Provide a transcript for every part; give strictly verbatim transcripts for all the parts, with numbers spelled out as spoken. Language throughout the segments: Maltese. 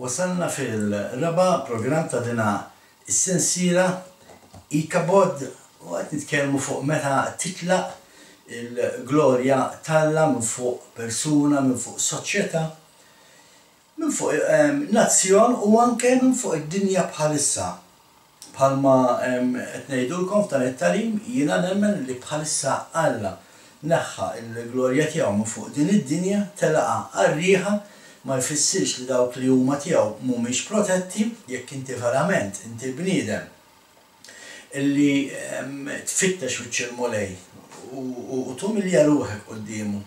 Wasalna fil-raba' programm ta' dina is-sensiela Ikabod u qed nitkellmu fuq meta titlaq il-glorja t'Alla minn fuq persuna, minn fuq soċjetà, minn fuq nazzjon u anke minn fuq id-dinja bħalissa. Bħalma qed ngħidulkom f'dan it-tagħlim, jiena nemmen li bħalissa Alla neħħa l-glorja tiegħu minn fuq din id-dinja, telaqha għar-riħa. Ma jfissirx li dawk li huma tiegħu mhumiex protetti. Jekk inti verament inti bniedem illi tfittex wiċċ il-Mulej u tumilja ruħek quddiemu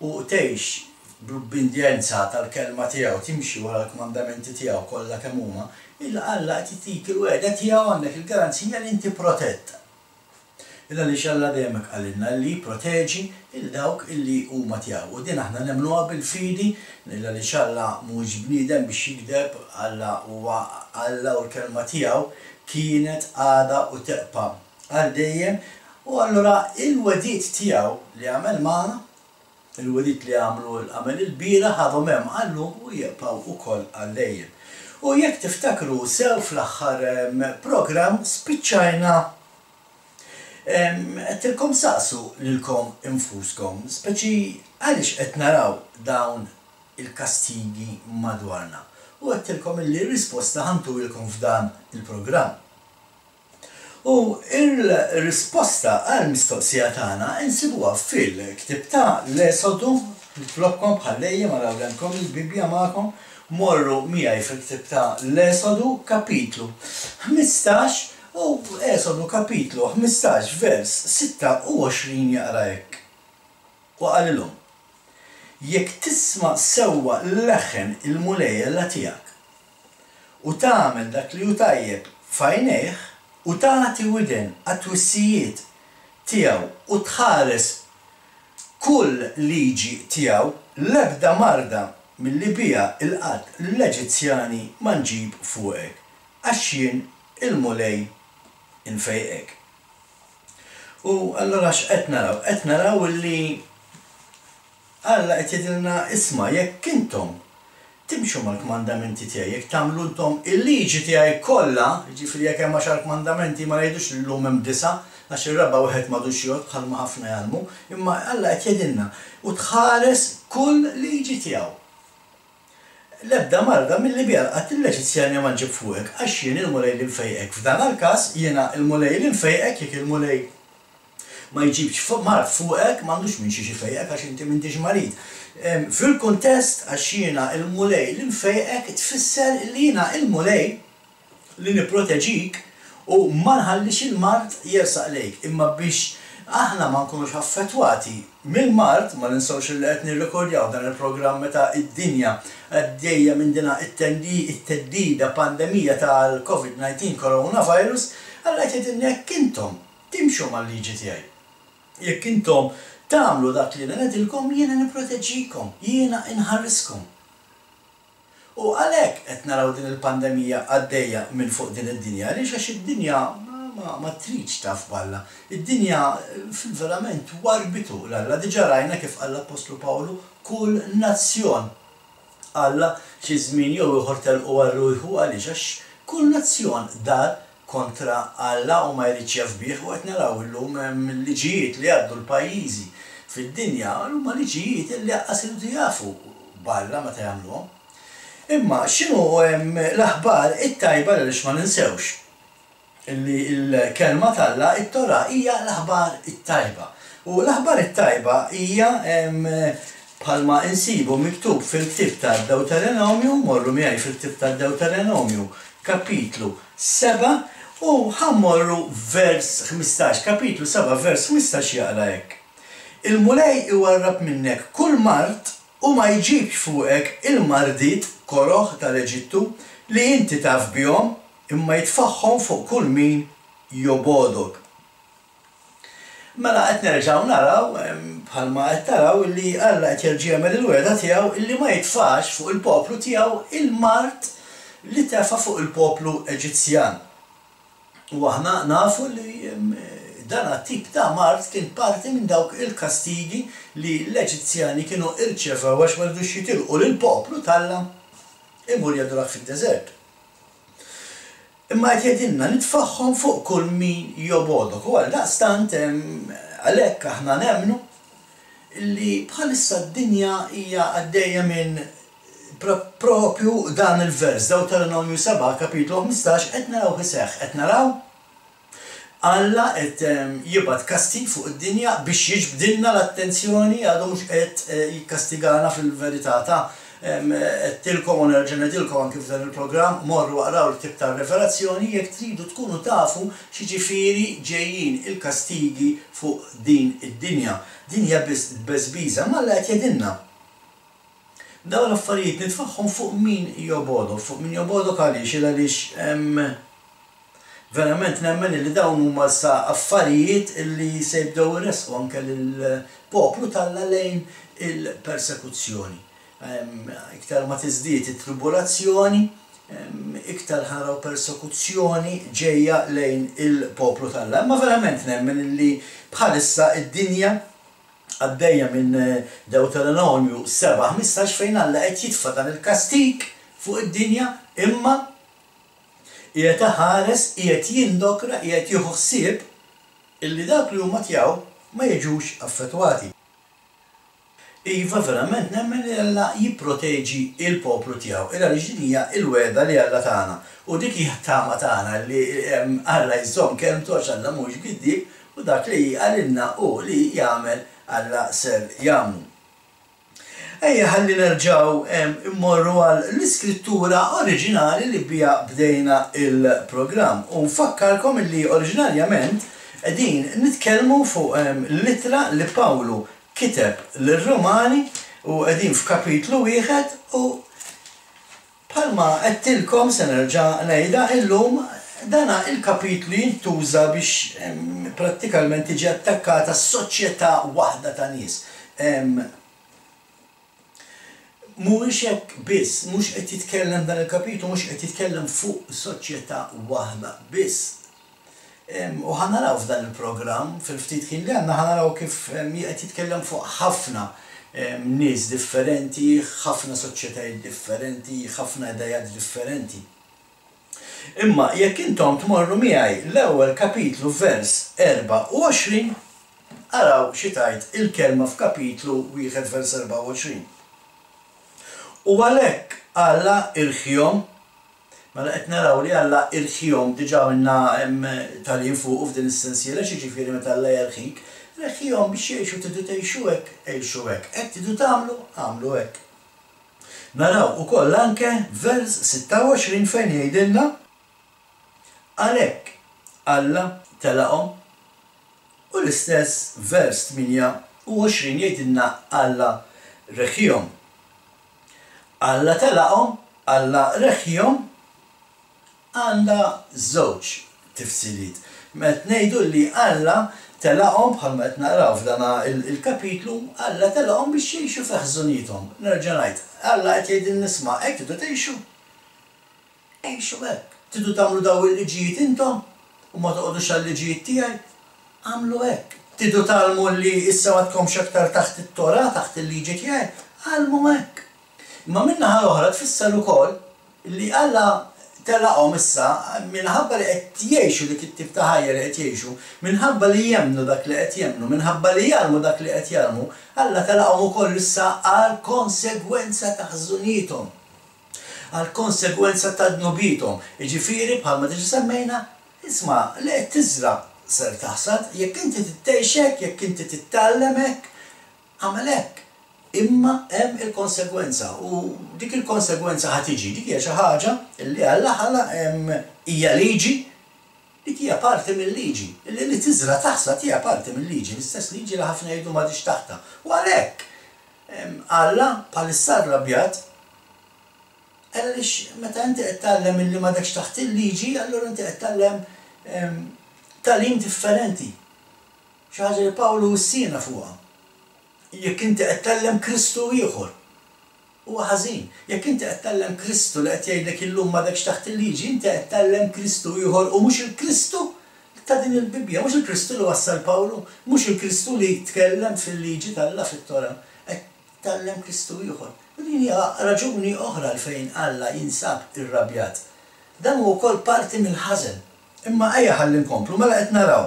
u tgħix bl-ubbidjenza tal-kelma tiegħu, timxi wara l-kmandamenti tiegħu kollha kemm huma, il Alla qed itik il-wegħda tiegħu, għandek il-garanzija li inti protett. Illa għaliex Alla dejjem hekk qalilna li jipproteġi lil dawk illi huma tiegħu. U din aħna nemmnuha bil-fidi, illa għaliex Alla mhuwiex bniedem biex jigdeb, Alla huwa Alla u l-kelma tiegħu kienet, għadha u tebqa' għal dejjem. U allura il-wegħdiet tiegħu li għamel magħna, il-wegħdiet li għamlu għamel il-bieraħ għadhom hemm għallum u jibqgħu wkoll għal dejjem. U jekk tiftakru sew fl-aħħar programm spiċċajna għedtilkom saqsu lilkom infuskom, speċi għaliex qed naraw dawn il-kastigi madwarna. U għedtilkom illi r-risposta ħantuilkom f'dan il-programm. U il-risposta għal-mistoqsija tagħna insibuha fil-ktieb ta' l-Esodu. Nitlobkom bħal dejjem araw għandkom il-Bibbja magħkom, morru miegħi fil-ktieb ta' l-Esodu kapitlu ħmistax, u Esodu kapitlu ħmistax vers sitta u għoxrin jaqra hekk. U qalilhom, jekk tisma' sewwa leħen il-Mulej Alla tiegħek u tagħmel dak li hu tajjeb f'għajnejh u tagħti widen għat-twissijiet tiegħu u tħares kull liġi tiegħu, l-ebda marda milli biha il-qatt l-Eġizzjani ma nġib fuqek, għax jien il-Mulej infejqek. U allura x'qed naraw? Qed naraw li Alla qed jgħidilna, isma', jekk intom timxu mal-kmandamenti tiegħi, jekk tagħmlu intom il-liġi tiegħi kollha, jiġifieri jekk hemm għaxar kmandamenti ma ngħidux li llum hemm disa', għax ir-raba' wieħed m'għadux jgħodd bħalma ħafna jgħallmu, imma Alla qed jgħidilna u tħares kull liġi tiegħu. L-ebda marda milli biha lqatt l-Eġizzjani ma nġib fuqek, għax jien il-Mulej li nfejqek. F'dan il-każ jiena il-Mulej li nfejqek, jekk il-Mulej ma jġibx mard fuqek, m'għandux minn xiex ifejqek għax inti m'intix marid. Fil-kuntest għax jiena il-Mulej li nfejqek tfisser li jiena il-Mulej li nipproteġik u ma nħallix il-mard jersaq lejk, imma biex aħna ma nkunux affettwati mill-mard, ma ninsewx li qed nirrekordjaw dan il-programm meta id-dinja għaddejja minn dina it-theddida pandemija tal-Covid nineteen coronavirus, Alla qed jgħidilna jekk intom timxu mal-liġi tiegħi, jekk intom tagħmlu dak li ngħidilkom, jiena nipproteġikom, jiena inħariskom. U għalhekk qed naraw din il-pandemija għaddejja minn fuq din id-dinja, għaliex għax id-dinja ma, ma tridx taf b'Alla. Id-dinja fil-verament warbitu l-Alla. Diġà rajna kif qal l-Appostlu Pawlu, kull nazzjon Alla xi żmien jew ieħor telqu għal ruħu, għaliex għax kull nazzjon dar kontra Alla u ma jridx jaf bih. U qed naraw illum hemm liġijiet li għaddu l-pajjiżi fid-dinja, huma liġijiet li lanqas iridu jafu b'Alla meta jagħmluhom. Imma x'inhu l-aħbar it-tajba, għaliex ma ninsewx illi l-kelma t'Alla, it-Torah, hija l-aħbar it-tajba. U l-aħbar it-tajba hija bħalma insibu miktub fil-ktieb tad-Deuteronomju, morru miegħi fil-ktieb tad-Deuteronomju, kapitlu seba', u ħammorru vers ħmistax, kapitlu seba' vers ħmistax jaqra hekk. Il-Mulej iwarrab minnek kull mard u ma jġibx fuqek il-mardiet koroh tal-Eġittu li inti taf bihom, imma jitfaħħom fuq kull min jobodok. Mela qed nerġgħu naraw, bħalma qed taraw, li Alla qed jerġa' jagħmel il-wegħda tiegħu illi ma jitfax fuq il-poplu tiegħu il-mard li tefa' fuq il-poplu Eġizzjan. U aħna nafu li dan tip ta' mard kien parti minn dawk il-kastigi li l-Eġizzjani kienu irċevew għax ma ridux jitilqu lill-poplu t'Alla Imur jadurak fid-deżert. Imma qed jgħidilna nitfagħhom fuq kull min jobgħodok. U għaldaqstant għalhekk aħna nemmnu li bħalissa d-dinja hija għaddejja minn propju dan il-vers, Dewteronomju sebgħa kapitlu ħmistax, qed naraw iseħħ, qed naraw Alla qed jibgħat kastig fuq id-dinja biex jiġbdilna l-attenzjoni, għadu mhux qed jikkastigana fil-verità ta' għedtilkom u nerġa' ngħidilkom anki f'dan il-programm, morru aqraw il-ktieb tar-Rivelazzjoni jekk tridu tkunu tafu x'jiġifieri ġejjin il-kastigi fuq din id-dinja. Din hija biss tbeżbiża, imma Alla qed jgħidilna. Dawn l-affarijiet nitfagħhom fuq min jobgħodok, fuq min jobgħodok għaliex? Il għaliex verament nemmen li dawn huma sa affarijiet li se jibdew iressqu anke lill-poplu t'Alla lejn il-persekuzzjoni. Iktar ma tiżdied it-tribulazzjoni, iktar ħaraw persekuzzjoni ġejja lejn il-poplu t'Alla. Imma verament nemmen li bħalissa id-dinja għaddejja minn Dewteronomju sebgħa ħmistax fejn Alla qed jitfa' dan il-kastig fuq id-dinja, imma qiegħed iħares, qiegħed jindokra, qiegħed jieħu ħsieb illi dak li huma tiegħu ma jiġux affettwati. Iva, verament nemmen li Alla jipproteġi il-poplu tiegħu. Illa li din hija l-wegħda li Alla tagħna. U dik hija t-tama tagħna li Alla jżomm kelmtu għax Alla mhux giddieb, u dak li qalilna hu li jagħmel Alla ser jagħmlu. Ejja ħalli nerġgħu immorru għal l-iskrittura oriġinali li biha bdejna il-programm. U nfakkarkom li oriġinarjament qegħdin nitkellmu fuq l-ittra li Pawlu kiteb lir-Rumani, u qegħdin f'kapitlu wieħed, u bħalma għedtilkom se nerġa' ngħidha illum, dana il-kapitlu jintuża biex prattikalment tiġi attakkata soċjetà waħda ta' nies. Mhuwiex hekk biss, mhux qed jitkellem dan il-kapitlu, mhux qed jitkellem fuq soċjetà waħda biss. U ħa naraw f'dan il-programm, fil-ftit ħin li għandna, ħa naraw kif qed jitkellem fuq ħafna nies differenti, ħafna soċjetajiet differenti, ħafna idejat differenti. Imma jekk intom tmorru miegħi l-ewwel kapitlu vers erbgħa u għoxrin, araw xi tgħid il-kelma f'kapitlu wieħed vers erbgħa u għoxrin. U għalhekk Alla irħihom, mela qed naraw li Alla irħihom, diġà għamilna tagħlim fuqu f'din is-sensiela, x'jiġifieri meta Alla jerħik, reħihom biex jgħixu, tridu tgħixu hekk, għixu hekk, hekk tridu tagħmlu, agħmlu hekk. Naraw ukoll anke vers sitta u għoxrin fejn jgħidilna għalhekk Alla telaqhom, u l-istess vers tmienja u għoxrin jgħidilna Alla reħihom. Alla telaqhom, Alla reħihom, għandha żewġ tifsiriet. Meta ngħidu li Alla telaqhom bħalma qed naqraw f'dan il-kapitlu, Alla telaqhom biex jgħixu fi ħżuniethom. Nerġa' ngħid, Alla qed jgħidilna isma', hekk tridu tgħixu. Għixu hekk. Tridu tagħmlu daw il-liġijiet intom u ma toqgħodux għal-liġijiet tiegħi, agħmlu hekk. Tridu tgħallmu li issa ma tkomx aktar taħt it-Torah, taħt il-liġi tiegħi, għallmu hekk. Imma min-naħa l-oħra tfisser ukoll li Alla telaqhom issa minħabba li qed jgħixu dik it-tip ta' ħajja li qed jgħixu, minħabba li jemmnu dak li qed jemmnu, minħabba li jgħallmu dak li qed jgħallmu, Alla telaqhom ukoll issa għal konsegwenza ta' ħżuniethom, għal konsegwenza ta' dnubiethom. Jiġifieri bħalma diġà semmejna, isma' li qed tiżra' ser taħsad, jekk inti tgħix hekk, jekk inti titgħallem hekk, agħmel hekk. Imma hemm il-konsegwenza, u dik il-konsegwenza ħa tiġi, dik hija xi ħaġa li Alla ħalaq, hija liġi, dik hija parti mill-liġi, li li tiżra' taħsad hija parti mill-liġi, l-istess liġi li ħafna jgħidu m'għadix taħtha. U għalhekk Alla bħalissa rrabjat, għaliex meta inti qed tgħallem illi m'għadekx taħt il-liġi, allura inti qed tgħallem tagħlim differenti. Xi ħaġa li Pawlu wissiena fuqha. Jekk inti qed tgħallem Kristu ieħor, huwa ħażin. Jekk inti qed tgħallem Kristu li qed jgħidlek illum m'għadekx taħt il-liġi, inti qed tgħallem Kristu ieħor u mhux il-Kristu ta' din il-Bibbja, mhux il-Kristu li wassal Pawlu, mhux il-Kristu li tkellem fil-liġi t'Alla fit-Torah. Qed Tgħallem Kristu ieħor. U din hija raġuni oħra għalfejn Alla jinsab irrabjat. Dan hu wkoll parti mill-ħażen. Imma ejja ħalli nkomplu, mela qed naraw.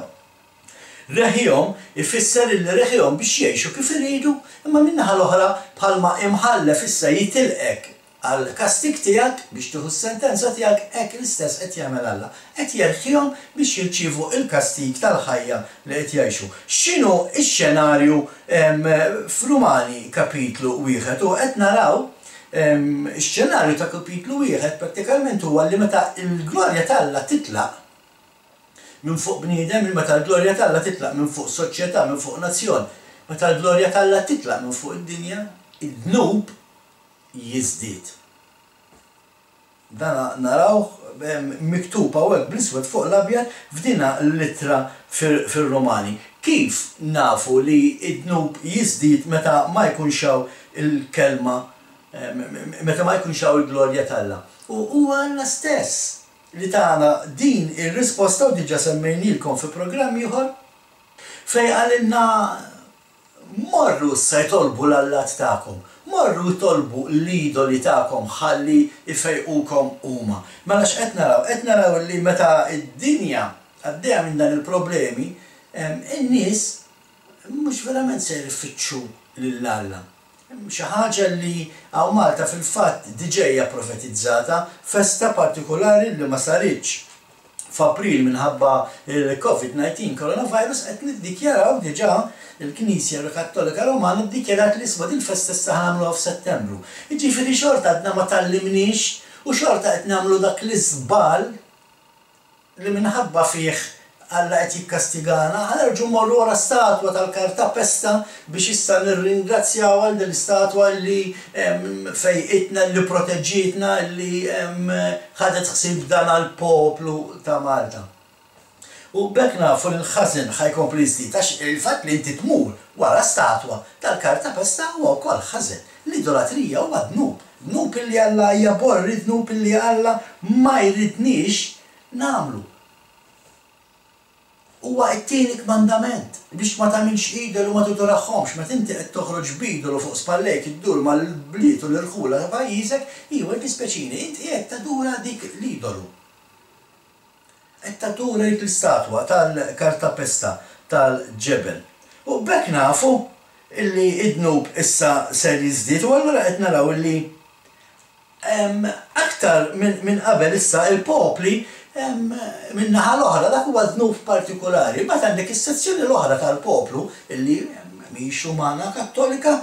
Reħihom ifisser illi reħihom biex jgħixu kif iridu, imma min-naħa l-oħra bħalma imħallef issa jitilqek għall-kastig tiegħek biex tieħu s-sentenza tiegħek, hekk l-istess qed jagħmel Alla. Qed jerħihom biex jirċievu l-kastig tal-ħajja li qed jgħixu. X'inhu x-xenarju f'Rumani kapitlu wieħed? U qed naraw ix-xenarju ta' kapitlu wieħed prattikalment huwa li meta l-glorja t'Alla titlaq minn fuq bniedem, meta l-glorja t'Alla titlaq minn fuq soċjetà, minn fuq nazzjon, meta l-glorja t'Alla titlaq minn fuq id-dinja, id-dnub jiżdied. Dan narawh miktub hawnhekk bl-iswed fuq l-abjad f'dina l-ittra fir-Rumani. Kif nafu li d-dnub jiżdied meta ma jkunx hawn il-kelma, meta ma jkunx hawn il-glorja t'Alla? U huwa Alla stess li tana din ir-risposta, u diġà semmejnielkom fi programm ieħor, fejn qalilna morru issa jtolbu l-allat tagħkom, morru jtolbu l-idoli tagħkom ħalli jfejqukom huma. Mela x'qed naraw? Qed naraw li meta d-dinja għaddejja minn dan il-problemi, in-nies mhux verament se jfittxu lil Alla. Xi ħaġa li hawn Malta fil-fatt diġà hija profetizzata, festa partikolari li ma saritx f'April minħabba il-Covid nineteen coronavirus, qed niddikjaraw diġà il-Knisja Kattolika Romana ddikjarat li isma' dil-festa issa ħa nagħmluha f'Settembru. Jiġifieri xorta għadna ma tgħallimniex u xorta qed nagħmlu dak l-iżball li minħabba fih Alla qed jikkastigana, ħa nerġgħu mmorru wara statwa tal-kartapesta biex issa nirringrazzjaw għal din l-istatwa li fejqitna, li proteġġietna, li ħadet ħsieb dan għall-poplu ta' Malta. U b'hekk nafu li l-ħażen ħa jkompli jiżdied, għax il-fatt li inti tmur wara statwa tal-kartapesta huwa wkoll ħażen. L-idolatrija huwa dnub, dnub illi Alla jaborri, dnub illi Alla ma jridniex nagħmlu. Huwa t-tieni kmandament biex ma tagħmilx idolu ma tudorahomx. Meta inti qed toħroġ b'idolu fuq spallejk iddur mal-bliet u l-irħula ta' pajjiżek, iwa jdispjaċini, inti qed tadura dik l-idolu. Qed tadura dik l-istatwa tal-kartapesta tal-ġebel. U b'hekk nafu illi id-dnub issa ser jiżdied, u allura qed naraw illi aktar minn qabel issa il-popli minn naħa l-oħra, dak huwa dnub partikolari. Imbagħad għandek is-sezzjoni l-oħra tal-poplu illi mhix umana kattolika,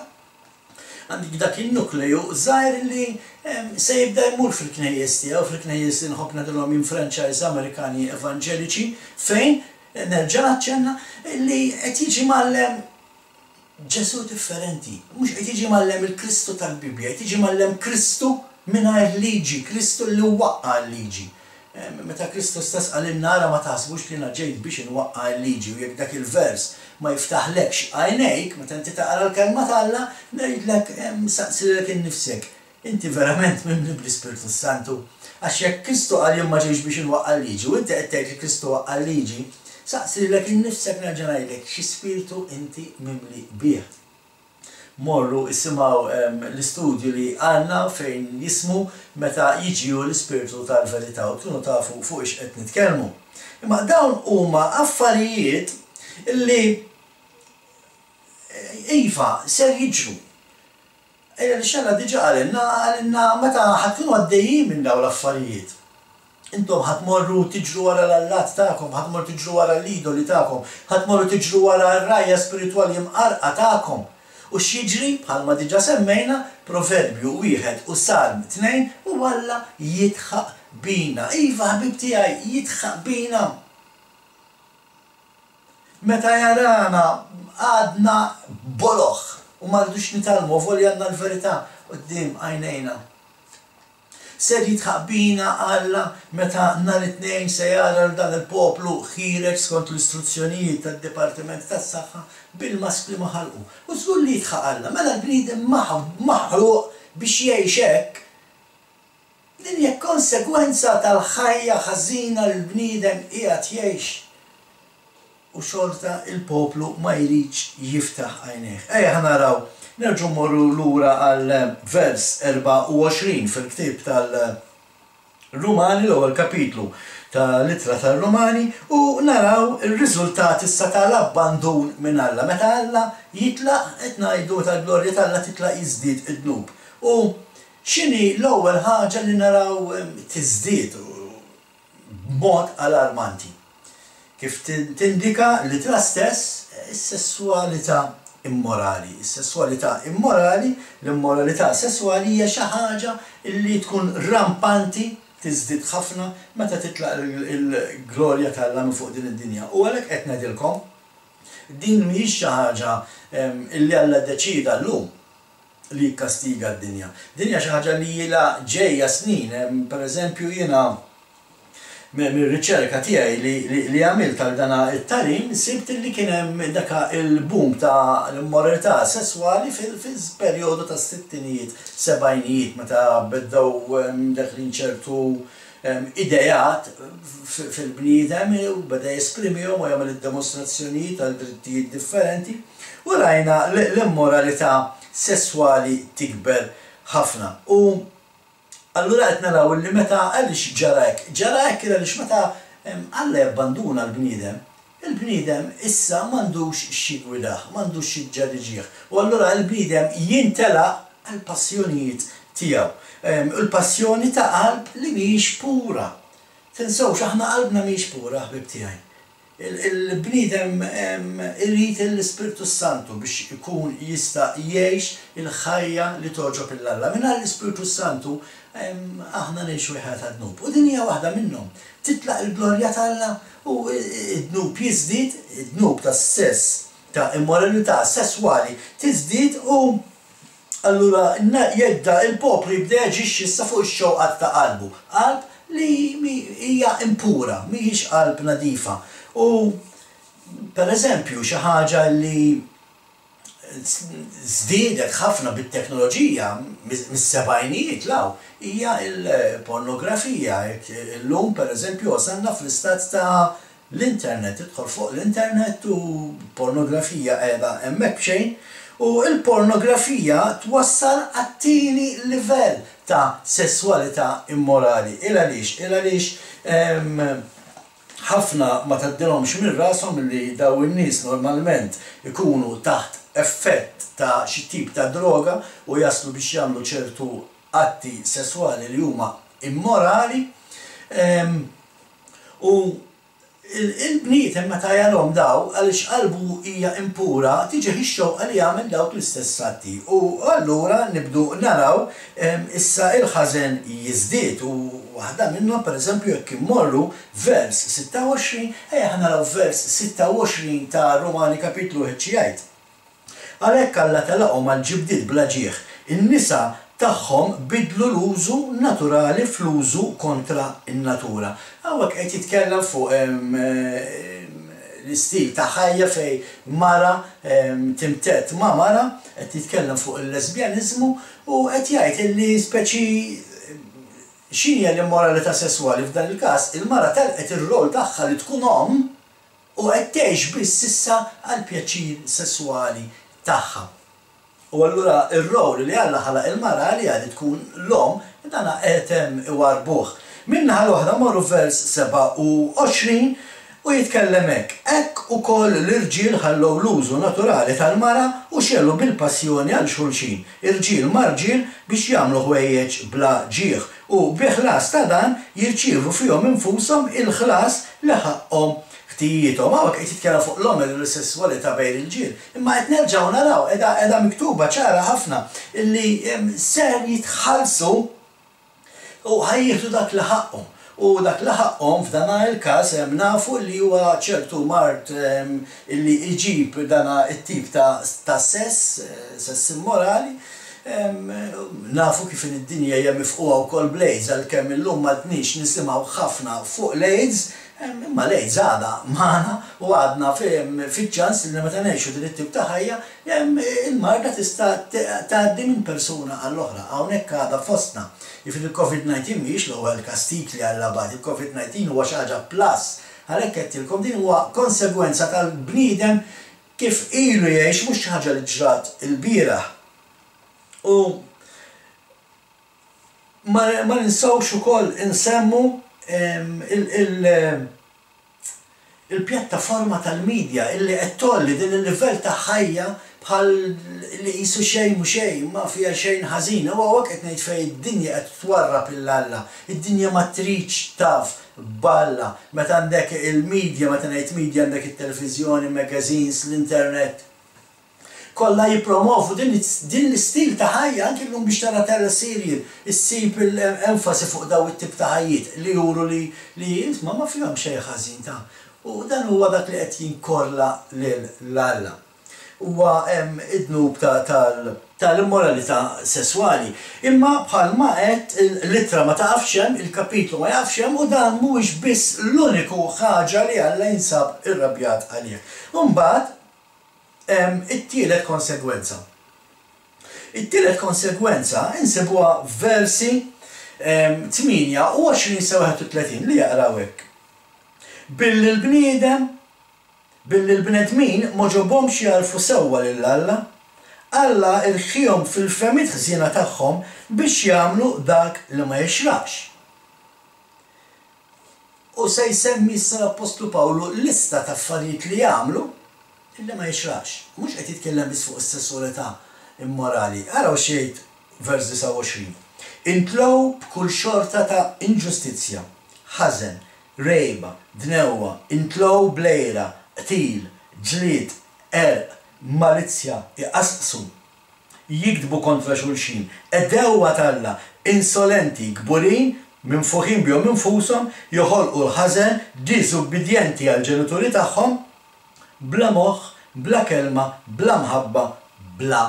għandek dak in-nukleju żgħir li se jibda jmur fil-knejjes tiegħu, fil-knejjes li nħobb ngħidilhom minn franchise Amerikani evanġeliċi, fejn nerġa' naċċenna li qed jiġi mgħallem Ġesù differenti, mhux qed jiġi mgħallem il-Kristu tal-Bibbja, qed jiġi mgħallem Kristu mingħajr liġi, Kristu li waqqa' l-liġi. Meta Kristu stess qalilna ara ma taħsbux li jiena ġejt biex inwaqqa' l-liġi, u jekk dak il-vers ma jiftaħlekx għajnejk meta inti taqra l-kelma t'Alla, ngħidlek saqsilek innifsek, inti verament mimli bl-Ispirtu Santu? Għax jekk Kristu qal jien ma ġejtx biex inwaqqa' l-liġi u inti qed tgħid li Kristu waqqa' l-liġi, saqsilek innifsek nerġa' ngħidlek xi spirtu inti mimli bih. Morru isimgħu l-istudju li għandna fejn jismu meta jiġi hu l-ispirtu tal-verità u tkunu tafu fuq ix qed nitkellmu. Imma dawn huma affarijiet li iva ser jiġru. Ejja li xella diġà qalilna, qalilna meta ħa tkunu għaddejjin minn dawn l-affarijiet. Intom ħa tmorru tiġru wara l-allat tagħkom, ħa tmorru tiġru wara l-idoli tagħkom, ħa tmorru tiġru wara r-rajja spiritwali mqarqa tagħkom. U x'jiġri, bħalma diġà semmejna, Proverbju wieħed u Salm tnejn, u Alla jidħaq bina. Iva, ħbib tiegħi, jidħaq bina. Meta jarana għadna boloh u ma rridux nitgħallmu, volja għandna l-verità quddiem għajnejna. Ser jidħaq bina Alla meta nhar it-Tnejn se jara l dan il-poplu ħiereġ skont l-istruzzjonijiet tad-Dipartiment tas-Saħħa bil-maskli ma ħalqu. U żgur li jidħaq Alla, mela l-bniedem maħluq biex jgħix hekk. Din hija konsegwenza tal-ħajja ħażina li l-bniedem qiegħed jgħix. U xorta il-poplu ma jridx jiftaħ għajnejh. Ejja ħa naraw Nerġgħu mmorru lura għal vers erbgħa u għoxrin fil-ktieb tal-Rumani, l-ewwel kapitlu tal-ittra tar-Rumani, u naraw ir-riżultat issa tal-abbandun minn Alla. Meta Alla jitlaq, qed ngħidu meta l-glorja t'Alla titlaq jiżdied id-dnub. U x'inhi l-ewwel ħaġa li naraw tiżdied b'mod alarmanti? Kif tindika l-ittra stess, is-sesswalità immorali. Is-sesswalità immorali, l-immoralità sesswali hija xi ħaġa li tkun rampanti, tiżdied ħafna meta titlaq il-glorja t'Alla minn fuq din id-dinja. U għalhekk qed ngħidilkom, din mhijiex xi ħaġa li Alla ddeċida llum li jikkastiga d-dinja. Din hija xi ħaġa li ilha ġejja snin. Per eżempju, jiena mir-riċerka tiegħi li għamilt għal dana it-tagħlim sibt li kien hemm daka il-boom ta' l-immoralità sesswali fil-perjodu tas-sittinijiet, sebgħinijiet, meta bdew deħlin ċertu idejat fil-bniedem u beda jesprimihom u jagħmel id-demostrazzjonijiet għal drittijiet differenti, u rajna l-immoralità sesswali tikber ħafna. U allura qed naraw li meta għaliex ġara hekk? Ġara hekk għaliex meta Alla jabbanduna l-bniedem, il-bniedem issa m'għandux x'jigwidah, m'għandux x'jiġġeriġih. U allura l-bniedem jintelaq għall-passjonijiet tiegħu. Il-passjoni ta' qalb li mhijiex pura. Tinsewx aħna qalbna mhijiex pura, ħbib tiegħi. Il-bniedem irid l-Ispirtu Santu biex ikun jista' jgħix il-ħajja li togħġob lil Alla. Mingħajr l-Ispirtu Santu aħna ngħixu ħajja ta' dnub. U din hija waħda minnhom. Titlaq il-glorja t'Alla u d-dnub jiżdied, id-dnub tas-sess, ta' immoralità sesswali tiżdied, u allura jibda il-poplu jibda jaġixxi issa fuq ix-xewqat ta' qalbu. Qalb li hija impura, mhijiex qalb nadifa. U per eżempju xi ħaġa li żdiedet ħafna bit-teknoloġija mis-sebgħinijiet law hija l-pornografija. Illum per eżempju wasalna fl-istat ta' l-internet, tidħol fuq l-internet u pornografija qiegħda hemmhekk b'xejn, u l-pornografija twassal għat-tieni livell ta' sesswalità immorali. Il għaliex? Il għaliex ħafna ma tgħaddilhomx minn rashom li daw in-nies normalment ikunu taħt effett ta' xi tip ta' droga u jaslu biex jagħmlu ċertu atti sesswali li huma immorali. U il-bniedem meta jarhom daw, għaliex qalbu hija impura, tiġi ix-xewqa li jagħmel dawk l-istess atti. U allura nibdu naraw issa il-ħażen jiżdied. U waħda minnhom pereżempju jekk immorru vers sitta u għoxrin, ejja ħa naraw vers sitta u għoxrin ta' Rumani kapitlu wieħed xi jgħid. Għalhekk Alla telaqhom għal ġibdiet bla ġieħ, in-nisa tagħhom bidlu l-użu naturali fl-użu kontra n-natura. Hawnhekk qed jitkellem fuq l-istil ta' ħajja fej mara timtett ma' mara, qed jitkellem fuq il-lesbjaniżmu u qed jgħid illi speċi x'inhi l-immoralità sesswali f'dan il-każ, il-mara telqet ir-rol tagħha li tkun omm u qed tgħix biss issa għal pjaċir sesswali tagħha. U allura ir-rol li Alla ħalaq il-mara għaliha li tkun l-omm, dan qed hemm iwarbuh. Min-naħa l-oħra morru vers sebgħa u għoxrin u jitkellem hekk. Hekk ukoll l-irġiel ħallew l-użu naturali tal-mara u xelu bil-passjoni għal xulxin, irġiel ma' rġiel, biex jagħmlu ħwejjeġ bla ġieħ, u bi ħlas ta' dan jirċievu fihom infushom il-ħlas li ħaqhom ħtijiethom. Hawnhekk qed jitkellem fuq l-omosesswalità bejn il-ġiel, imma qed nerġgħu naraw qiegħda qiegħda miktuba ċara ħafna illi ser jitħallsu u ħajjieħdu dak li ħaqhom. U dak li ħaqhom f'dan il-każ hemm nafu li huwa ċertu mard illi jġib dan it-tip ta' sess, sess immorali. Nafu kif id-dinja hija mifquha wkoll bl-AIDS, għalkemm illum m'għadniex nisimgħu ħafna fuq l-AIDS, imma l-AIDS għadha magħna u għadna fiċ-ċans li meta ngħixu din it-tip ta' ħajja il-marda tista' tgħaddi minn persuna għall-oħra. Hawnhekk għadha fostna. Jiġifieri il-Covid nineteen mhijiex l-ewwel kastig li Alla bagħat, il-Covid nineteen huwa xi ħaġa plus. Għalhekk qedtilkom din huwa konsegwenza tal-bniedem kif ilu jgħix, mhux xi ħaġa li ġrat il-bieraħ. U ma ninsawx ukoll insemmu il-pjattaforma tal-medja illi qed tgħolli din il-livell ta' ħajja bħal li qisu xejn mhu xejn, ma fiha xejn ħażin. U hawnhekk qed ngħid fejn id-dinja qed twarrab lil Alla. Id-dinja ma tridx taf b'Alla. Meta għandek il-medja, meta ngħid media għandek it-televiżjoni, magazines, l-internet, kollha jippromovu din l-istil ta' ħajja. Anki llum biex tara teleserial issib l-enfasi fuq daw it-tip ta' ħajjiet li juru li li isma' ma fihom xejn ħażin ta'. U dan huwa dak li qed jinkorla lil Alla. Huwa id-dnub tal-immoralità sesswali. Imma bħalma għedt, l-ittra ma taqafx hemm, il-kapitlu ma jaqafx hemm, u dan mhuwiex biss l-uniku ħaġa li Alla jinsab irrabjat għalih. U mbagħad hemm it-tielet konsegwenza. It-tielet konsegwenza insibuha f'versi tmienja u għoxrin sa wieħed u tletin li jaqraw hekk. Billi l-bniedem Billi l-bnedmin m'għoġobhomx jagħrfu sewwa lil Alla, Alla rħiehom fil-fehmiet ħżiena tagħhom biex jagħmlu dak li ma jixraqx. U se jsemmi issa l-appostlu Pawlu lista ta' affarijiet li jagħmlu li ma jixraqx. Mhux qed jitkellem biss fuq is-sesswalità immorali. Araw x'jgħid vers disgħa u għoxrin, Intlew b'kull xorta ta' inġustizzja, ħażen, rgħiba, dnewwa, intlew bl-għira, qtil, ġlied, qerq, malizzja, iqasqsu, jigdbu kontra xulxin, għedewwa t'Alla, insolenti, kburin, minfuħin bihom infushom, joħolqu l-ħażen, diżubbidjenti għall-ġenituri tagħhom, bla moħħ, bla kelma, bla mħabba, bla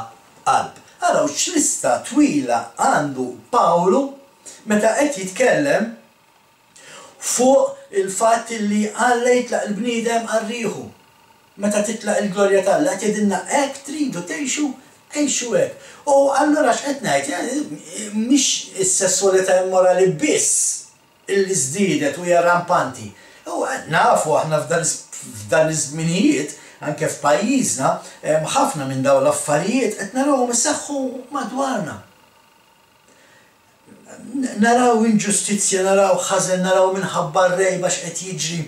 qalb. Araw x'lista twila għandu Pawlu meta qed jitkellem fuq il-fatt li Alla jitlaq il-bniedem għal riħu. Meta titlaq il-glorja t'Alla, qed jgħidilna hekk tridu tgħixu, għixu hekk. U allura x'qed ngħid? Mhix is-sesswalità immorali biss illi żdiedet u hija rampanti. U nafu aħna f'dan iż-żminijiet, anke f'pajjiżna, ħafna minn dawn l-affarijiet qed narawhom iseħħu madwarna. Naraw inġustizzja, naraw ħażen, naraw minħabba r-rgħiba x'qed jiġri,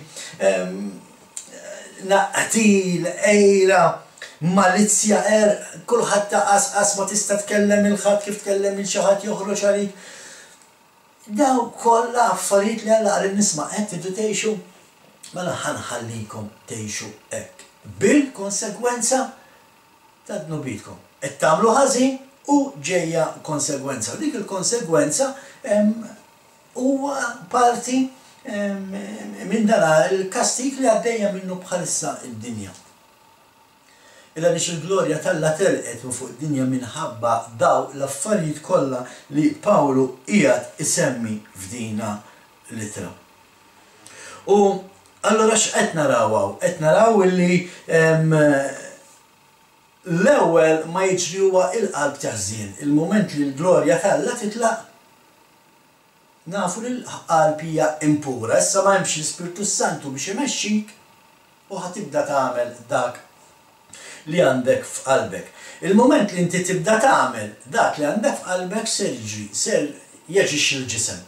qtil, għira, malizzja, qerq, kulħadd taqasqas, ma tista' tkellem 'il ħadd, kif tkellem 'il xi ħadd joħroġ għalik. Dawn kollha affarijiet li Alla qal lin-nies ma qed tridu tgħixu, mela ħa nħallikom tgħixu hekk bil-konsegwenza ta' dnubietkom. Qed tagħmlu ħażin u ġejja konsegwenza. U dik il-konsegwenza huwa parti minn dan il-kastig li għaddejja minnu bħalissa d-dinja. Il għaliex il-glorja t'Alla telqet minn fuq id-dinja minħabba daw l-affarijiet kollha li Pawlu qiegħed isemmi f'dina l-ittra. U allura x'qed naraw hawn? Qed naraw illi l-ewwel ma jiġri huwa il-qalb teħżien. Il-mument li l-glorja t'Alla titlaq, nafu li l-qalb hija impura. Issa ma hemmx l-Ispirtu Santu biex imexxik u ħa tibda tagħmel dak li għandek f'qalbek. Il-mument li inti tibda tagħmel dak li għandek f'qalbek ser jiġri, ser jaġixxi l-ġisem.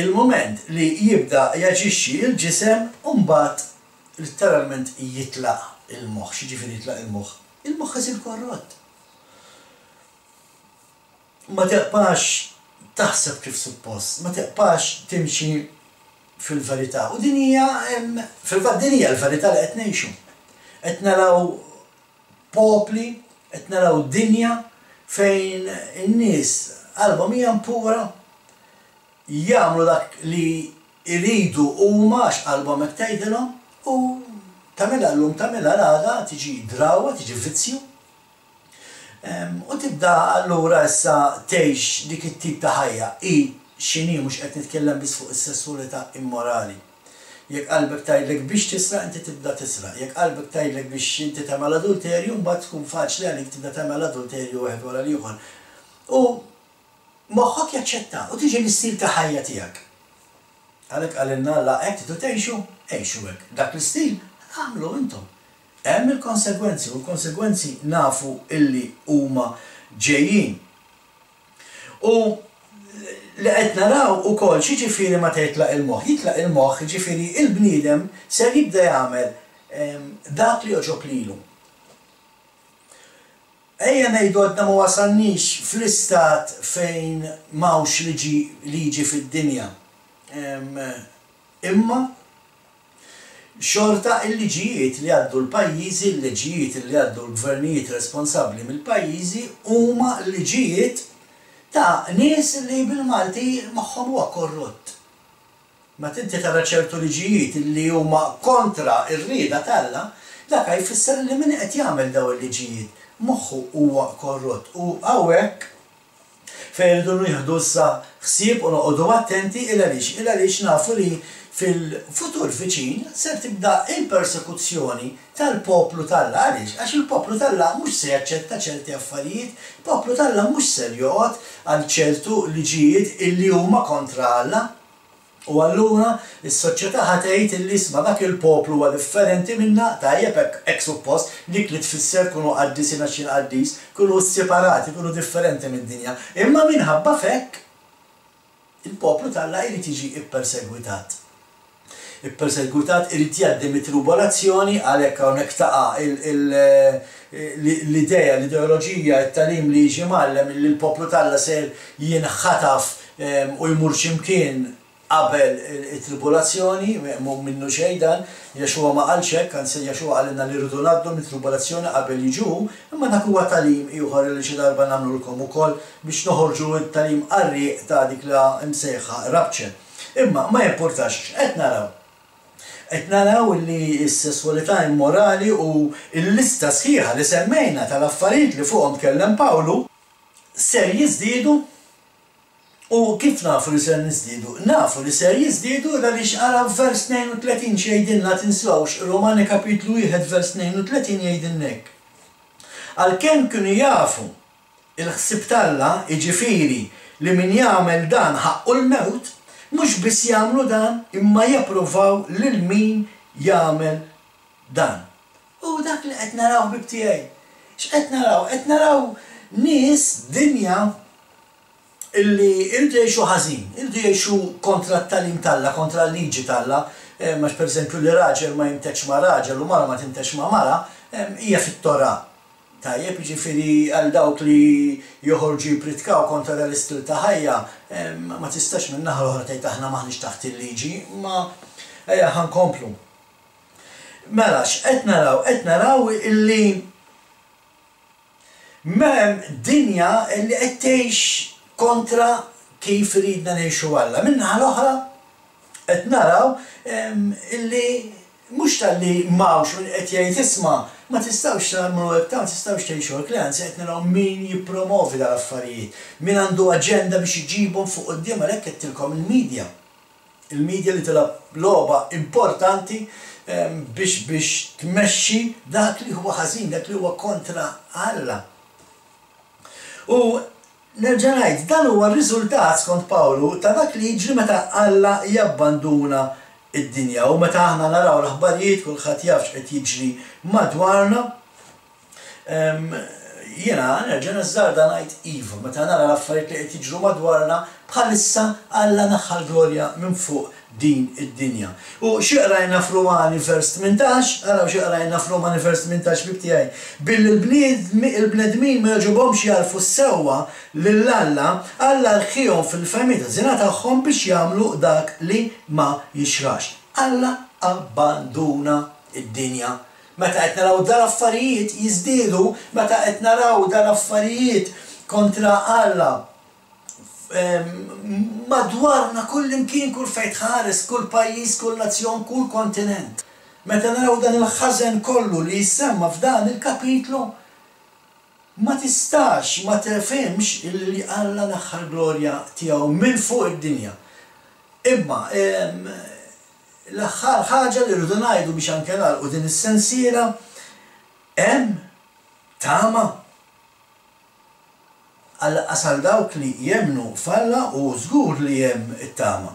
Il-mument li jibda jaġixxi l-ġisem, mbagħad letteralment jitlaq il-moħħ. X'jiġifieri jitlaq il-moħħ? Il-moħħ isir korrott. Ma teqpax taħseb kif suppost, ma teqpax timxi fil-verità. U din hija, fil-fatt din hija l-verità li qed ngħixu. Qed naraw popli, qed naraw dinja fejn in-nies qalbhom hija impura, jagħmlu dak li jridu huma għax qalbhom hekk tgħidilhom, u tagħmilha llum tagħmilha l-għada tiġi drawwa, tiġi vizzju. U tibda allura issa tgħix dik it-tip ta' ħajja hi x'inhi, mhux qed nitkellem biss fuq is-sesswalità immorali. Jekk qalbek tgħidlek biex tisraq, inti tibda tisraq. Jekk qalbek tgħidlek biex inti tagħmel adulterju, mbagħad tkun faċli għalik tibda tagħmel adulterju wieħed wara l-ieħor. U moħħok jaċċetta u tiġi l-istil ta' ħajja tiegħek. Għalhekk qalilna Alla hekk tridu tgħixu, għixu hekk. Dak l-istil agħmlu intom. Hemm il-konsegwenzi, u l-konsegwenzi nafu illi huma ġejjin. U li qed naraw ukoll x'jiġifieri meta jitlaq il-moħħ. Jitlaq il-moħħ, jiġifieri il-bniedem ser jibda jagħmel dak li jogħġob lilu. Ejja ngħidu għadna ma wasalniex fl-istat fejn m'hawnx liġi liġi fid-dinja. Imma xorta il-liġijiet li għaddu l-pajjiżi, il-liġijiet li għaddu l-gvernijiet responsabbli mill-pajjiżi huma liġijiet ta' nies li bil-Malti moħħhom huwa korrott. Meta inti tara ċertu liġijiet li huma kontra r-rieda t'Alla, dak jfisser li min qed jagħmel dawn il-liġijiet moħħu huwa korrott. U hawnhekk fejn irridu nieħdu issa ħsieb u noqogħdu attenti il għaliex il għaliex nafu li fil-futur viċin ser tibda il-persekuzzjoni tal-poplu t'Alla. Għaliex? Għax il-poplu t'Alla mhux se jaċċetta ċerti affarijiet, il-poplu t'Alla mhux ser joqgħod għal ċertu liġijiet illi huma kontra Alla. U allura is-soċjetà ħa tgħid illi isma' dak il-poplu huwa differenti minna, tajjeb hekk hekk suppost, dik li tfisser kunu qaddisin għax jien qaddis, kunu separati, kunu differenti mid-dinja. Imma minħabba f'hekk il-poplu t'Alla jrid jiġi ippersegwitat. Ippersegwitat irid jgħaddi mit-tribolazzjoni, għalhekk hawnhekk taqa' l-idea, l-ideoloġija, it-tagħlim li jiġi mgħallem li l-poplu t'Alla ser jinħataf u jmur x'imkien qabel it-tribolazzjoni, mhu minnu xejn dan, Yeshua ma qalx hekk, anzi Yeshua qalilna li rridu ngħaddu mit-tribolazzjoni qabel jiġu, imma dak huwa tagħlim ieħor li xi darba nagħmlulkom ukoll biex noħorġu t-tagħlim qarrieq ta' dik la msejħa rapture. Imma ma jimpurtax, x'qed naraw? Qed naraw li s-sesswalità immorali u l-lista sħiħa li semmejna tal-affarijiet li fuqhom tkellem Pawlu ser jiżdiedu. U kif nafu li ser niżdiedu? Nafu li ser jiżdiedu għaliex ara vers tnejn u tletin x'jgħidilna, tinsewx, Rumani kapitlu wieħed vers tnejn u tletin jgħidilna hekk. Għalkemm kienu jafu il-ħsieb t'Alla, jiġifieri li min jagħmel dan ħaqqu l-mewt, mhux biss jagħmlu dan imma japprovaw lil min jagħmel dan. U dak li qed naraw ħbib tiegħi. X'qed naraw? Qed naraw nies dinja illi irridu jgħixu ħażin, irridu jgħixu kontra t-tagħlim t'Alla, kontra l-liġi t'Alla, għax pereżempju li raġel ma jintex ma' raġel u mara ma tintex ma' mara, hija fit-Torah. Tajjeb, jiġifieri għal dawk li joħorġu jippritkaw kontra dan l-istil ta' ħajja, ma tistax minn naħa l-oħra tgħid aħna m'aħniex taħt il-liġi, ma ejja ħa nkomplu. Mela x'qed naraw? Qed naraw illi m'hemm dinja illi qed tgħix kontra kif ridna ngħixu Alla. Min-naħa l-oħra qed naraw illi mhux talli m'hawnx min qed jgħid isma' ma tistgħux tagħmlu hekk, ma tistgħux tgħixu hekk, le, anzi qed naraw min jippromovi dal-affarijiet, min għandu aġenda biex iġibhom fuq quddiem, għalhekk qedtilkom il-medja. Il-medja li tilgħab logħba importanti biex biex tmexxi dak li huwa ħażin, dak li huwa kontra Alla. U nerġa' ngħid, dan huwa r-riżultat skont Pawlu ta' dak li jiġri meta Alla jabbanduna id-dinja. U meta aħna naraw l-aħbarijiet, kulħadd jaf x'qed jiġri madwarna, jiena nerġa' nażżarda ngħid iva, meta nara l-affarijiet li qed jiġru madwarna, bħalissa Alla naħħa l-glorja minn fuq din id-dinja. U xi qrajna f'Rumani vers tmintax, araw xi qrajna f'Rumani vers tmintax ħbib tiegħi, billi l-bnedmin ma jogħġobhomx jagħrfu s-sewwa lil Alla, Alla rħihom fil-fehmiet ħżiena tagħhom biex jagħmlu dak li ma jixrax. Alla abbanduna id-dinja. Meta qed naraw dal-affarijiet jiżdiedu, meta qed naraw dal-affarijiet kontra Alla madwarna kull imkien, kull fejn tħares, kull pajjiż, kull nazzjon, kull kontinent. Meta naraw dan il-ħażen kollu li jissemma f'dan il-kapitlu, ma tistax ma tefhimx li Alla naħħa l-glorja tiegħu minn fuq id-dinja. Imma l-aħħar ħaġa li rridu ngħidu biex anke nagħlqu din is-sensiela, hemm tama għal għal dawk li jemmnu f'Alla, u żgur li hemm it-tama.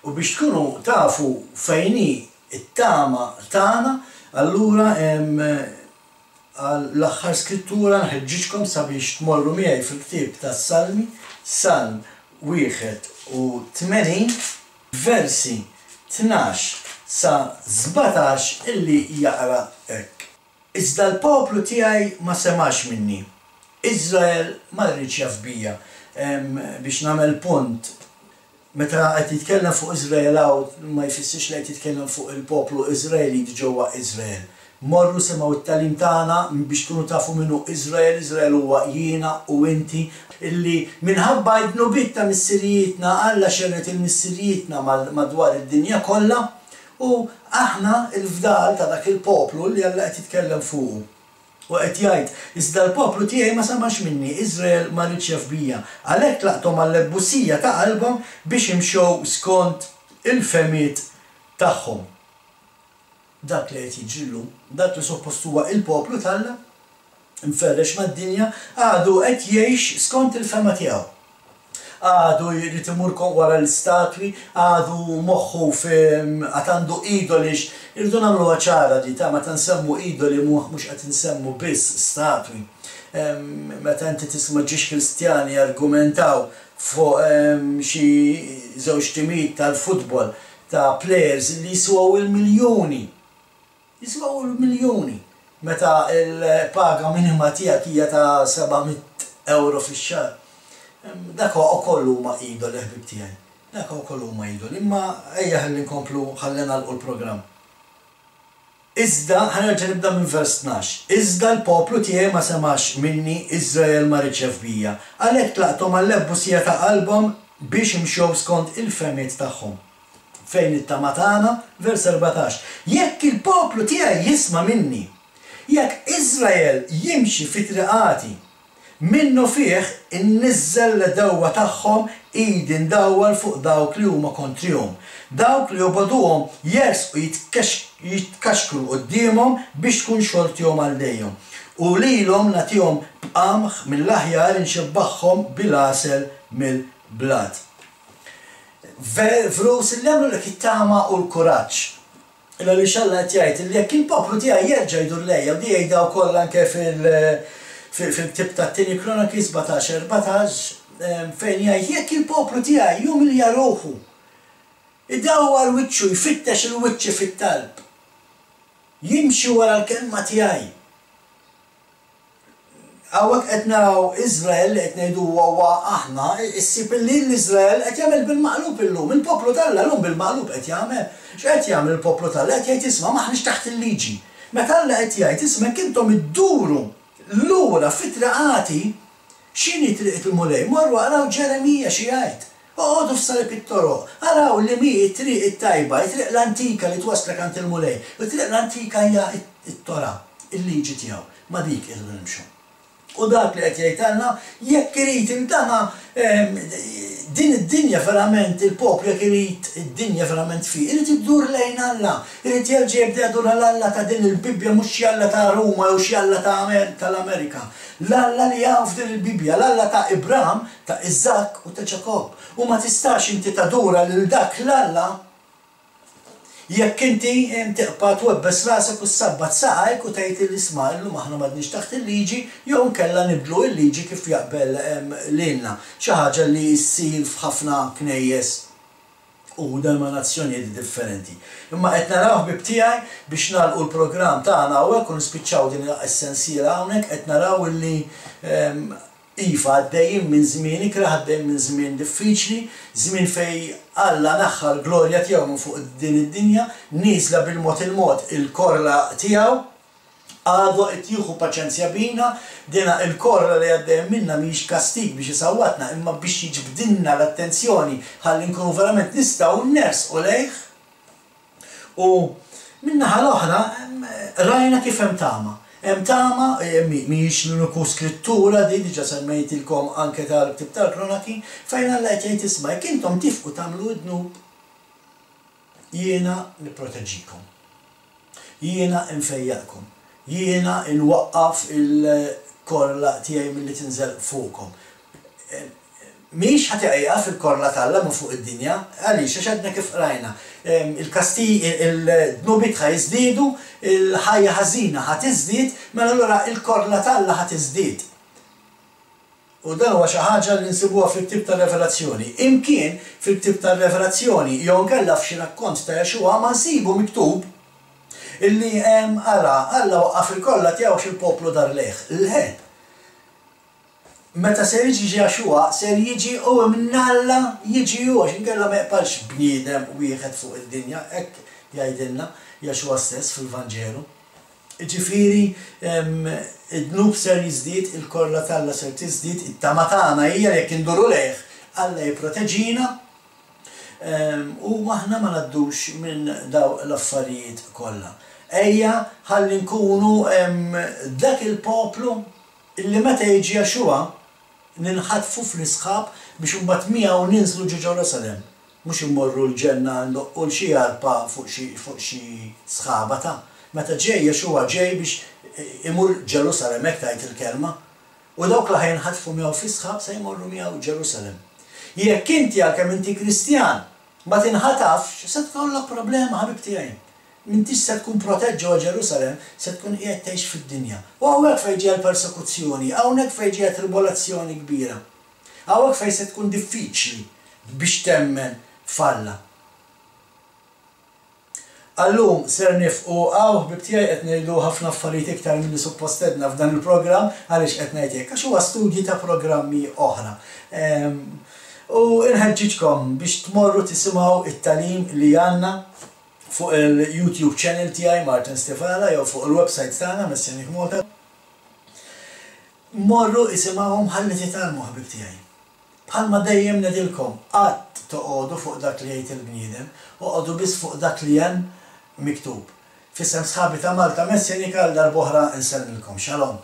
U biex tkunu tafu fejn hi it-tama tagħna, Allura għall-aħħar skrittura nħeġġiġkom sabiex tmorru miegħi fil-ktieb tas-Salmi, Salm wieħed u tmenin, versi tnax sa sbatax illi jaqra hekk. Iżda l-poplu tiegħi ma semax minni, Iżrael ma rridx jaf bija. Biex nagħmel punt, meta qed jitkellem fuq Iżrael hawn ma jfissirx li qed jitkellem fuq il-poplu Iżraelit ġewwa Iżrael. Morru semgħu t-tagħlim tagħna biex tkunu tafu min hu Iżrael. Iżrael huwa jiena u inti, illi minħabba d-dnubiet ta' missirijietna Alla xerred il-missirijietna madwar id-dinja kollha, u aħna l-fdal ta' dak il-poplu li Alla qed jitkellem fuqu. U qed jgħid, iżda l-poplu tiegħi ma samax minni, Iżrael ma riedx jaf bija. Għalhekk tlaqthom għall-ebbusija ta' qalbhom biex imxew skont il-fehmiet tagħhom. Dak li qed jiġri llum, dak li suppost huwa il-poplu t'Alla, mferrex mad-dinja, għadu qed jgħix skont il-fehma tiegħu. Għadu jrid imur wara l-istatwi, għadu moħħu għad għandu idoli. Irridu nagħmluha ċara di ta' meta nsemmu idoli mhux qed insemmu biss statwi. Meta inti tisma' ġiex Kristjani argumentaw fuq xi żewġ timijiet tal-futbol ta' players li jiswaw il-miljuni. Jiswaw il-miljuni. Meta l-paga minima tiegħek hija ta' seba' mitt euro fix-xahar. Dak ukoll huma idoli, ħbieb tiegħi. Dak ukoll huma idoli. Imma ejja ħalli nkomplu, ħalli nagħlqu l-programm. Iżda, ħa nerġa' nibda minn vers tnax. Iżda l-poplu tiegħi ma semax minni, Iżrael ma riedx jaf bija. Għalhekk tlaqthom għall-ebbusija ta' qalbhom biex imxew skont il-fehmiet tagħhom. Fejn it-tama tagħna? Vers erbatax. Jekk il-poplu tiegħi jisma' minni, jekk Iżrael jimxi fi triqati, minnu fih inniżżel l-dewwa tagħhom, idi ndawwar fuq dawk li huma kontrihom. Dawk li jobogħduhom jersqu jitkaxkru quddiemhom biex tkun xortihom għal dejjem. U lilhom nagħtihom b'qamħ mill-aħjar inxebbaħhom bil-għasel mill-blat. Vrus li għamlu lek it-tama u l-kuraġġ. Illa li xalla qed jgħid li jekk il-poplu tiegħi jerġa' jdur lejja, u di jgħidha wkoll anke fil- fil-ktib tat-tieni Kronaki sbatax erbatax, fejn jgħid jekk il-poplu tiegħi jumilja ruħu, idawwar wiċċu, jfittex il-wiċċi fit-talb, jimxi wara l-kelma tiegħi. Hawnhekk qed naraw Iżrael li qed ngħidu huwa aħna, issib li l-Iżrael qed jagħmel bil-maqlub illum, il-poplu t'Alla llum bil-maqlub qed jagħmel. X'qed jagħmel il-poplu t'Alla? Qed jgħid isma' m'aħniex taħt il-liġi. Meta Alla qed jgħid isma' jekk intom idduru lura fit-triqati, x'inhi triqet il-Mulej? Morru araw Ġeremija xi jgħid. Oqogħdu f'salib it-toroq, araw li mi t-triq it-tajba, it-triq l-antika li twaslek għand il-Mulej. It-triq l-antika hija t-Torah, il-liġi tiegħu. Ma dik irridu nimxu. U dak li qed jgħid Alla, jekk irid il-dana din id-dinja verament, il-poplu jekk irid id-dinja verament fi, irid iddur lejn Alla, irid jerġa' jibda jdur għal Alla ta' din il-Bibbja, mhux xi Alla ta' Ruma jew xi Alla ta' tal-Amerika. L-Alla li hawn f'din il-Bibbja, l-Alla ta' Ibrahim, ta' Iżakk u ta' Ġakobb. U ma tistax inti tadura lil dak l-Alla jekk inti tibqa' twebbes rasek u ssabbat saqajk u tgħid li isma' illum aħna m'għadniex taħt il-liġi jew inkella nibdlu l-liġi kif jaqbel lilna. Xi ħaġa li ssir f'ħafna knejjes u denominazzjonijiet differenti. Imma qed naraw ħbieb tiegħi biex nagħlqu l-programm tagħna hawnhekk u nispiċċaw din is-sensiela hawnhekk, qed naraw illi iva għaddejjin minn żmien ikrah, għaddejjin minn żmien diffiċli, żmien fej Alla naħħa l-glorja tiegħu minn fuq din id-dinja, nieżla bil-mod il-mod il-korla tiegħu, għadu qed jieħu paċenzja bina, dina il-korla li għaddejjem minna mhijiex kastig biex isawwatna, imma biex jiġbdilna l-attenzjoni ħalli nkunu verament nistgħu nersqu lejh. U min-naħa l-oħra rajna kif hemm tama. Hemm tama, mhijiex l-uniku skrittura di diġà semmejtilkom anke tal-ktib tal-Kronaki, fejn Alla qed jgħid isma' jekk intom tifqu tagħmlu d-dnub, jiena nipproteġikom. Jiena nfejjaqkom. Jiena nwaqqaf il-korla tiegħi milli tinżel fuqkom. Mhix ħa tieqaf il-korla t'Alla minn fuq id-dinja, għaliex? Għax għadna kif qrajna, il-kastigi, il-dnubiet ħa jiżdiedu, il-ħajja ħażina ħa tiżdied, mela allura il-korla t'Alla ħa tiżdied. U dan huwa xi ħaġa li nsibuha fil-ktieb tar-Revelazzjoni. Imkien fil-ktieb tar-Revelazzjoni jew inkella f'xi rakkont ta' Yeshua ma nsibu miktub illi ara Alla waqqaf il-korla tiegħu għax il-poplu dar lejh. Le. Meta ser jiġi Yeshua, ser jiġi u minn Alla jiġi hu, għax inkella ma jqbalx bniedem wieħed fuq id-dinja, hekk jgħidilna Yeshua stess fil-Vanġelu. Ġifieri, id-dnub ser jiżdied, il-korla t'Alla ser tiżdied, it-tama tagħna hija jekk induru lejh, Alla jipproteġina u aħna ma ngħaddux minn daw l-affarijiet kollha. Ejja ħalli nkunu dak il-poplu illi meta jiġi Yeshua ninħatfu fl-isħab biex imbagħad miegħu ninżlu ġo Ġerusalemm. Mhux immorru l-ġenna ndoqqu l xi arpa fuq xi fuq xi sħaba ta'. Meta ġej Yeshua ġej biex imur Ġerusalemm, hekk tgħid il-kelma. U dawk li ħa jinħatfu miegħu fis-sħab se jmorru miegħu Ġerusalemm. Jekk inti għalkemm inti Kristjan ma tinħatafx, se tkollok problema, ħabib tiegħi. M'intix se tkun protett ġewwa Ġerusalemm, se tkun qiegħed tgħix fid-dinja. U hawnhekk fejn ġejja l-persekuzzjoni, hawnhekk fejn ġejja tribolazzjoni kbira. Hawnhekk fejn se tkun diffiċli biex temmen f'Alla. Għallum ser nifqu hawn, ħbib tiegħi, qed ngħidu ħafna affarijiet iktar milli suppost għedna f'dan il-programm. Għaliex qed ngħid hekk? Għax huwa studji ta' programmi oħra. U nħeġġiġkom biex tmorru tisimgħu it-tagħlim li għandna fuq il-YouTube channel tiegħi Martin Stivala jew fuq il-website tagħna Messianic Malta. Morru isimgħuhom ħalli titgħallmu, ħbib tiegħi. Bħalma dejjem ngħidilkom, qatt toqogħdu fuq dak li jgħid il-bniedem, oqogħdu biss fuq dak li hemm miktub. F'isem sħabi ta' Malta Messianika għal darb'oħra nsellmilkom. Shalom.